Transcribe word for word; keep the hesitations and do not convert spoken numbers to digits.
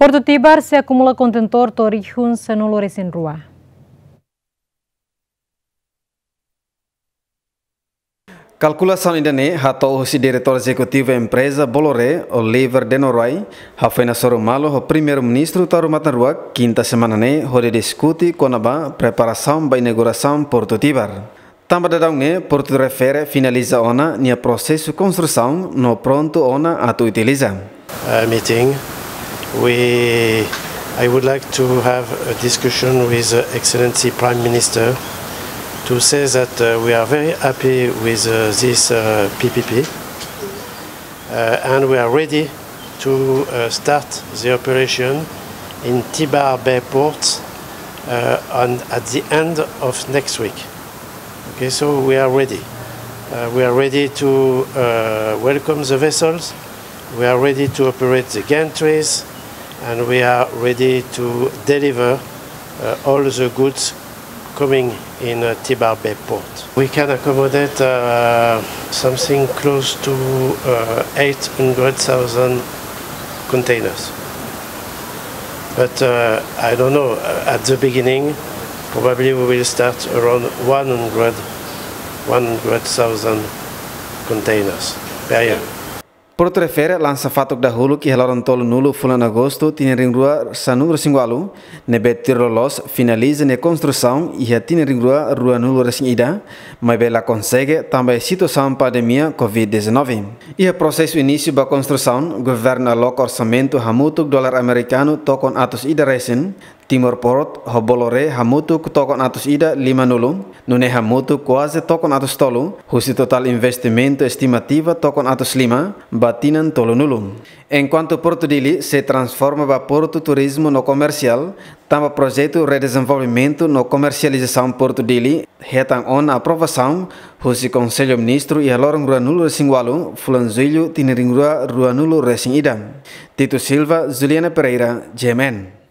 Portu Tibar sei akumula kontentór to'o rihun sanulu-resin-rua. Kalkulasaun ida-ne'e hato'o husi Diretór Ezekutivu Empreza Bolloré, Oliver de Noronha, hafoin hasoru malu ho Primeiru-Ministru Taur Matan Ruak, kinta semana ne'e, hodi diskute kona-ba preparasaun ba inaugurasaun Portu Tibar. Tanba daudaun ne'e, portu refere finaliza ona nia prosesu konstrusaun no prontu ona atu utiliza. Uh, meeting, we, I would like to have a discussion with, uh, Excellency Prime Minister to say that, uh, we are very happy with, uh, this, uh, P P P, uh, and we are ready to, uh, start the operation in Tibar Bay Port, uh, on, at the end of next week. Okay, so we are ready. Uh, we are ready to, uh, welcome the vessels. We are ready to operate the gantries, and we are ready to deliver, uh, all the goods coming in, uh, Tibar Bay Port. We can accommodate, uh, something close to, uh, eight hundred thousand containers. But, uh, I don't know, uh, at the beginning, probably we will start around one hundred, one hundred thousand containers per year. Portu refere lansa fatuk dahuluk iha loron tolunulu fulan Agostu tinan rihun rua sanulu-resin-ualu, ne'ebé tuir loloos finaliza nia konstrusaun iha tinan rihun rua ruanulu-resin-ida, maibé la konsege tanba situasaun pandemia covid dezanove. Iha prosesu inísiu ba konstrusaun, governu aloka orsamentu hamutuk dolar amerikanu tokon atus ida resin, Timor Port ho Bolloré hamutuk tokon atus ida limanulu, nune'e hamutuk kuaze tokon atus tolu, husi totál investimentu estimativa tokon atus lima ba tinan tolunulu. Enkuantu Portu Dili sei transforma ba portu turizmu no komersiál, tanba projetu redezenvolvimentu no komersializasaun Portu Dili hetan ona aprovasaun husi Konsellu Ministru iha loron ruanulu-resin-ualu, fulan Jullu tinan rihun rua ruanulu-resin-ida. Tito Silva, Juliana Pereira, G M N.